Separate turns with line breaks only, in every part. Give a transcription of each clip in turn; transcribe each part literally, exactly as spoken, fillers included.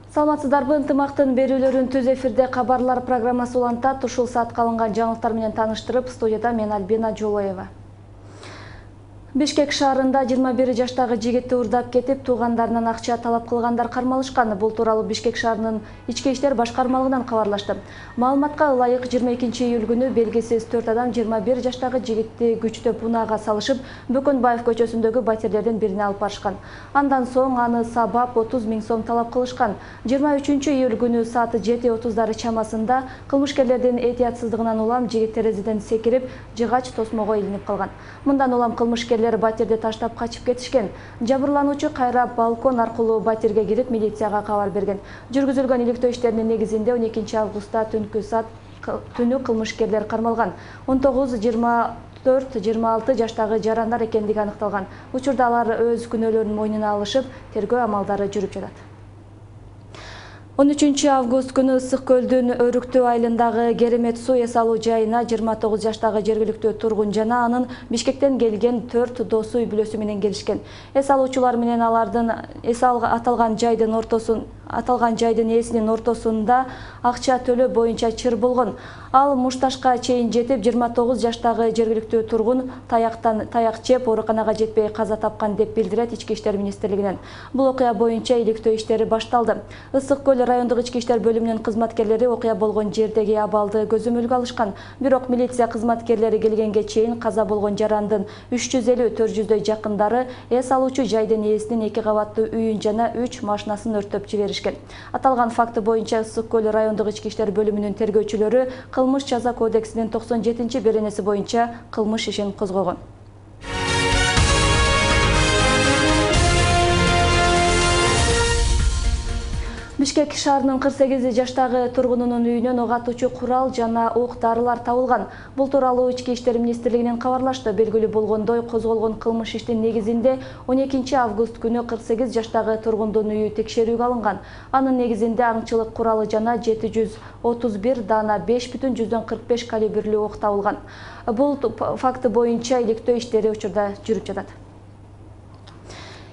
Саламатсыздарбы, ынтымактын берүүлөрүн түз эфирде кабарлар программасы улантат. Ушул саатка алынган жаңылыктар менен таныштырып, студияда мен Альбина Жолоева. Бишкек шаарында жыйырма бир жаштагы жигитти урдап кетип, туугандарынан акча талап кылгандар кармалышкан. Бул тууралуу Бишкек шаарынын ички иштер башкармалыгынан кабарлашты. Маалыматка ылайык жыйырма экинчи июль күнү белгисиз төрт адам жыйырма бир жаштагы жигитти күчтөп унаага салышып, Бөкөнбаев көчөсүндөгү батирлердин бирине алып барышкан. Андан соң аны сабап отуз миң сом талап кылышкан. жыйырма үчүнчү июль күнү саат жети отуздары чамасында кылмышкерлердин этиятсыздыгынан улам жигит терезеден секирип, жыгач тосмого илинип калган. Мындан улам кылмышкерлер батирди таштап качып кетишкен. Жабырлануучу кайра балкон аркылуу батирге кирип, милицияга кабар берген. Жүргүзүлгөн иликтөө иштеринин негизинде он экинчи августта түнкү саат түнү кылмышкерлер кармалган. он тогуз жыйырма төрт жыйырма алты жаштагы жарандар экендиги аныкталган. Учурда алар өз күнөөлөрүн мойнуна алышып, тергөө амалдары жүрүп жатат. он үчүнчү август күнү Ысык көлдүн Өрүктүү айылындагы Керемет суу эс алуу жайына жыйырма тогуз жаштагы жергиликтүү тургун жана анын Бишкектен келген төрт досу үй бүлөсү менен келишкен. Эс алуучулар менен алардын эс аталган жайдын ортосун аталган жайдын ээсинин ортосунда акча төлөө боюнча чыр болгон. Ал мушташка чейин жетип, жыйырма тогуз жаштагы жергиликтүү тургун таяктан таяк жеп ооруканага жетпей каза тапкан деп билдирет Ички иштер министрлигинен. Бул окуя боюнча иликтөө иштери башталды. Ысык көл райондук ички иштер бөлүмүнүн кызматкерлери окуя болгон жердеги абалды көзөмөлгө алышкан. Бирок милиция кызматкерлери келгенге чейин каза болгон жарандын үч жүз элүү төрт жүздөй жакындары эс алуучу жайдын ээсинин эки кабаттуу үйүн жана үч машинасын өрттөп жиберишкен. Аталган факты боюнча Ысык көл райондук ички иштер бөлүмүнүн тергөөчүлөрү Кылмыш жаза кодексинин токсон жетинчи беренеси боюнча кылмыш ишин козгогон. Бишкек шаарынын кырк сегиз жаштагы тургунунун үйүнөн ок атуучу курал жана оок-дарылар табылган. Бул тууралуу Ички иштер министрлигинен кабарлашты. Белгилүү болгондой, козголгон кылмыш иштин негизинде он экинчи август күнү кырк сегиз жаштагы тургундун үйү текшерүүгө алынган. Анын негизинде аңчылык куралы жана жети жүз отуз бир даана беш бүтүн жүздөн кырк беш калибрлүү ок табылган. Бул факты боюнча иликтөө иштери учурда жүрүп жатат.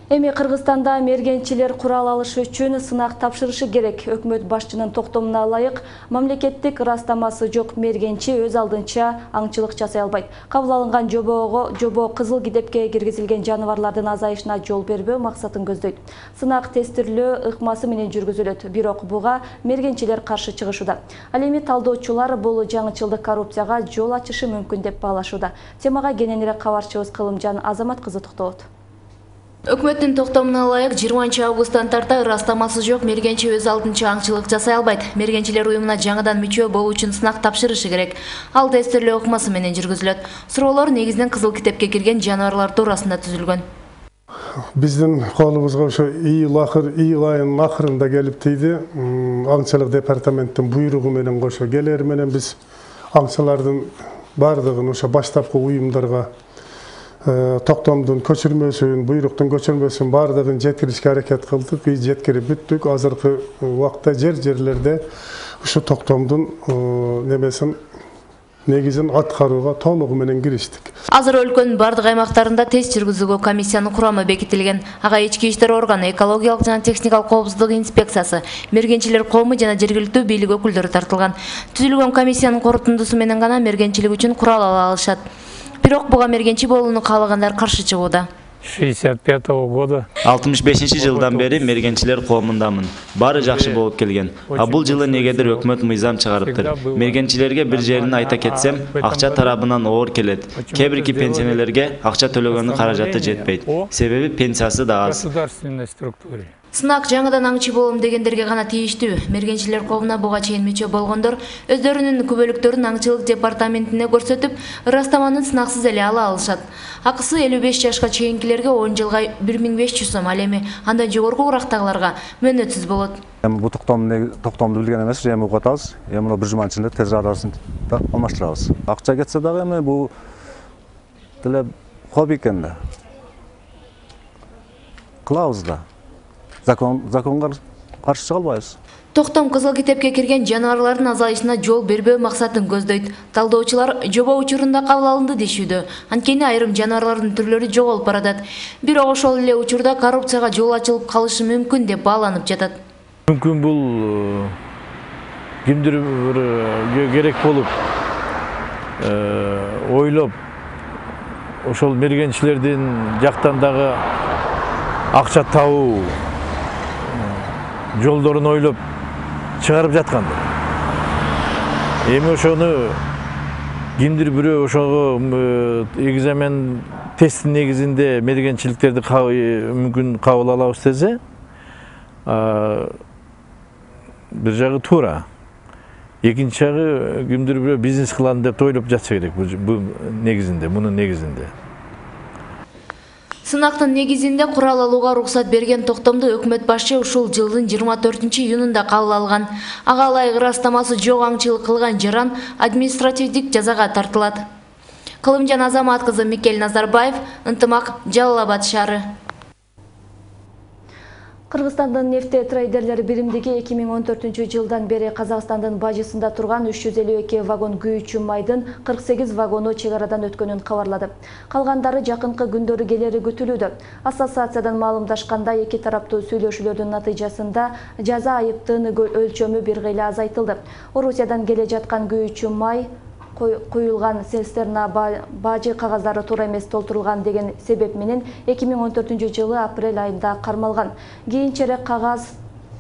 Эми Кыргызстанда мергенчилер курал алыш үчүн сынак тапшырышы керек. Өкмөт башчынын токтомуна ылайык, мамлекеттик ырастамасы жок мергенчи өз алдынча аңчылык жасай албайт. Кабыл алынган жобого жобо кызыл китепке киргизилген жаныбарлардын азайышына жол бербөө максатын көздөйт. Сынак тестирлөө ыкмасы менен жүргүзүлөт, бирок буга мергенчилер каршы чыгышууда. Ал эми талдоочулар бул жаңычылдык коррупцияга жол ачышы мүмкүн деп баалашууда. Темага кененирээк кабарчыбыз Кылымжан Азамат кызы токтолот.
Өкмөттүн токтомуна ылайык жыйырманчы августтан тарта ырастамасы жок мергенчи өз алдынча аңчылык жасай албайт. Мергенчилер уюмуна жаңыдан мүчө болуу үчүн сынак тапшырышы керек. Ал тестирлөө ыкмасы менен жүргүзүлөт. Суроолор негизинен кызыл китепке кирген жаныбарлар туурасында түзүлгөн.
Биздин колубузга ошо июль акыр июль айынын акырында келип тийди. Аңчылык департаменттин буйругу менен кошо келери менен биз аңчылардын бардыгын ошо баштапкы уюмдарга токтомдун көчүрмөсүн, буйруктун көчүрмөсүн бардыгын жеткиришке аракет кылдык. Биз жеткирип бүттүк. Азыркы убакта жер-жерлерде ушу токтомдун немесин негизин аткарууга толугу менен кириштик.
Азыр өлкөнүн бардык аймактарында тест жүргүзүүгө комиссиянын курамы бекитилген. Ага ички иштер органы, экологиялык жана техникалык коопсуздук инспекциясы, мергенчилер коому жана жергиликтүү бийлик өкүлдөрү тартылган. Түзүлгөн комиссиянын корутундусу менен гана мергенчилик үчүн курал ала алышат. Бирок буга мергенчи болууну каалагандар каршы чыгууда.
шестьдесят пятого года.
алтымыш бешинчи жылдан бери мергенчилер коомундамын. Баары жакшы болуп келген. А бул жылы негедир өкмөт мыйзам чыгарыптыр. Мергенчилерге бир жерин айта кетсем, акча тарабынан оор келет. Кээ бирки пенсионерлерге акча төлөгөнүн каражаты жетпейт. Себеби пенсиясы да аз.
Сынак жаңыдан аңчы болом дегендерге гана тийиштүү. Мергенчилер коомуна буга чейин мүчө болгондор өздөрүнүн күбөлүктөрүн аңчылык департаментине көрсөтүп, ырастаманы сынаксыз эле ала алышат. Акысы элүү беш жашка чейинкилерге он жылга бир миң беш жүз сом, ал эми андан жогорку урактагыларга мөөнөтсүз болот.
Эми бул токтомду билген эмес, эми угуп атабыз. Эми бир жуманын ичинде тез арасын алмаштырабыз. Акча кетсе дагы эми бул деле хобби экен да. Кылабыз да. Закон законга каршы чыга албайбыз.
Токтом кызыл китепке кирген жаныбарлардын азайышына жол бербөө максатын көздөйт. Талдоочулар жобо учурунда кабыл алынды дешүүдө. Анткени айрым жаныбарлардын түрлөрү жоголуп баратат. Бирок ошол эле учурда коррупцияга жол ачылып калышы мүмкүн деп бааланып жатат.
Мүмкүн бул кимдир бир керек болуп ойлоп ошол мергенчилердин жактан дагы акча табуу жолдорун ойлоп чыгарып жаткандыр. Эми ошону кимдир бирөө ошого экзамен тесттин негизинде мергенчиликтерди мүмкүн кабыл алабыз десе, бир жагы туура. Экинчи жагы кимдир бирөө бизнес кылам деп ойлоп жатса керек бул негизинде, мунун негизинде.
Сынактын негизинде курал алууга уруксат берген токтомду өкмөт башчы ушул жылдын жыйырма төртүнчү июнунда кабыл алган. Ага ылайык ырастамасы жок аңчылык кылган жаран административдик жазага тартылат. Кылымжан Азамат кызы, Микель Назарбаев, Ынтымак, Жалал Абад шаары.
Кыргызстандын нефте трейдерлери биримдиги эки миң он төртүнчү жылдан бери Казакстандын бажысында турган үч жүз элүү эки вагон күйүүчү майдын кырк сегиз вагону чек арадан өткөнүн кабарлады. Калгандары жакынкы күндөрү келери күтүлүүдө. Ассоциациядан маалымдашканда эки тараптуу сүйлөшүүлөрдүн натыйжасында жаза айыптын өлчөмү бир кыйла азайтылды. Орусиядан келе жаткан күйүүчү май куюлган цистерна бажы кагаздары туура эмес толтурулган деген себеп менен эки миң он төртүнчү жылы апрель айында кармалган. Кийинчерээк кагаз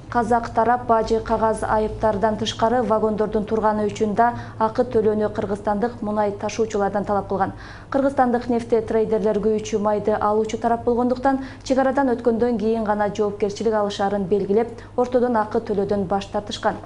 казак тарап бажы кагаз айыптардан тышкары вагондордун турганы үчүн да акы төлөөнү кыргызстандык мунай ташуучулардан талап кылган. Кыргызстандык нефте трейдерлер күйүүчү майды алуучу тарап болгондуктан чек арадан өткөндөн кийин гана жоопкерчилик алышаарын белгилеп, ортодон акы төлөөдөн баш тартышкан.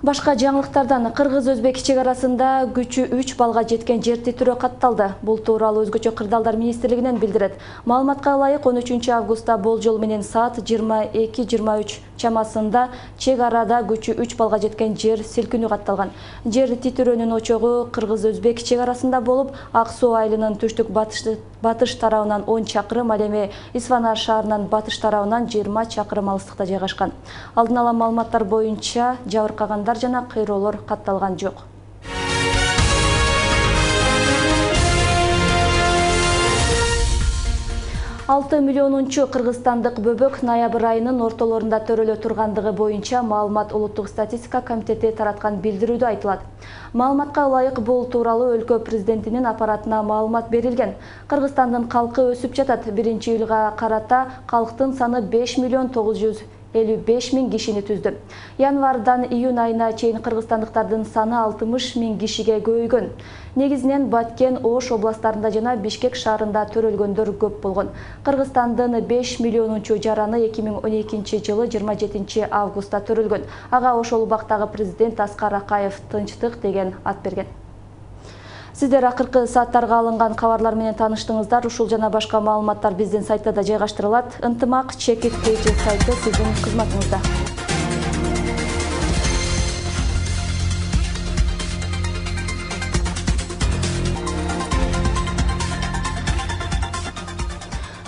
Башка жаңылыктардан Кыргыз-Өзбек чек арасында күчү үч балга жеткен жер титирөө катталды. Бул тууралуу Өзгөчө кырдаалдар министрлигинен билдирет. Маалыматка ылайык он үчүнчү августта болжол менен саат жыйырма эки жыйырма үч чамасында чек арада күчү үч балга жеткен жер силкинүү катталган. Жер титирөөнүн очогу Кыргыз-Өзбек чек арасында болуп, Ак Суу айылынын түштүк батыш тарабынан он чакырым, ал эми Исфана шаарынын батыш тарабынан жыйырма чакырым алыстыкта жайгашкан. Алдын ала маалыматтар боюнча жабыркагандар жана кыйроолор катталган жок. алты миллионунчу кыргызстандык бөбөк ноябрь айынын ортолорунда төрөлө тургандыгы боюнча маалымат Улуттук статистика комитети тараткан билдирүүдө айтылат. Маалыматка ылайык бул тууралуу өлкө президентинин аппаратына маалымат берилген. Кыргызстандын калкы өсүп жатат. биринчи июлга карата калктын саны беш миллион тогуз жүз элүү беш миң кишини түздү. Январдан июнь айына чейин кыргызстандыктардын саны алтымыш миң кишиге көбөйгөн. Негизинен Баткен, Ош областарында жана Бишкек шаарында төрөлгөндөр көп болгон. Кыргызстандын беш миллионунчу жараны эки миң он экинчи жылы жыйырма жетинчи августта төрөлгөн. Ага ошол убактагы президент Аскар Акаев тынчтык деген ат берген. Сиздер акыркы сааттарга алынган кабарлар менен тааныштыңыздар. Ушул жана башка маалыматтар биздин сайтта да жайгаштырылат. Ынтымак чекит кейчи сайты сиздин кызматыңызда.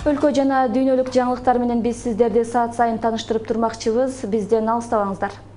Өлкө жана дүйнөлүк жаңылыктар менен биз сиздерди саат сайын тааныштырып турмакчыбыз. Бизден алыстабаңыздар.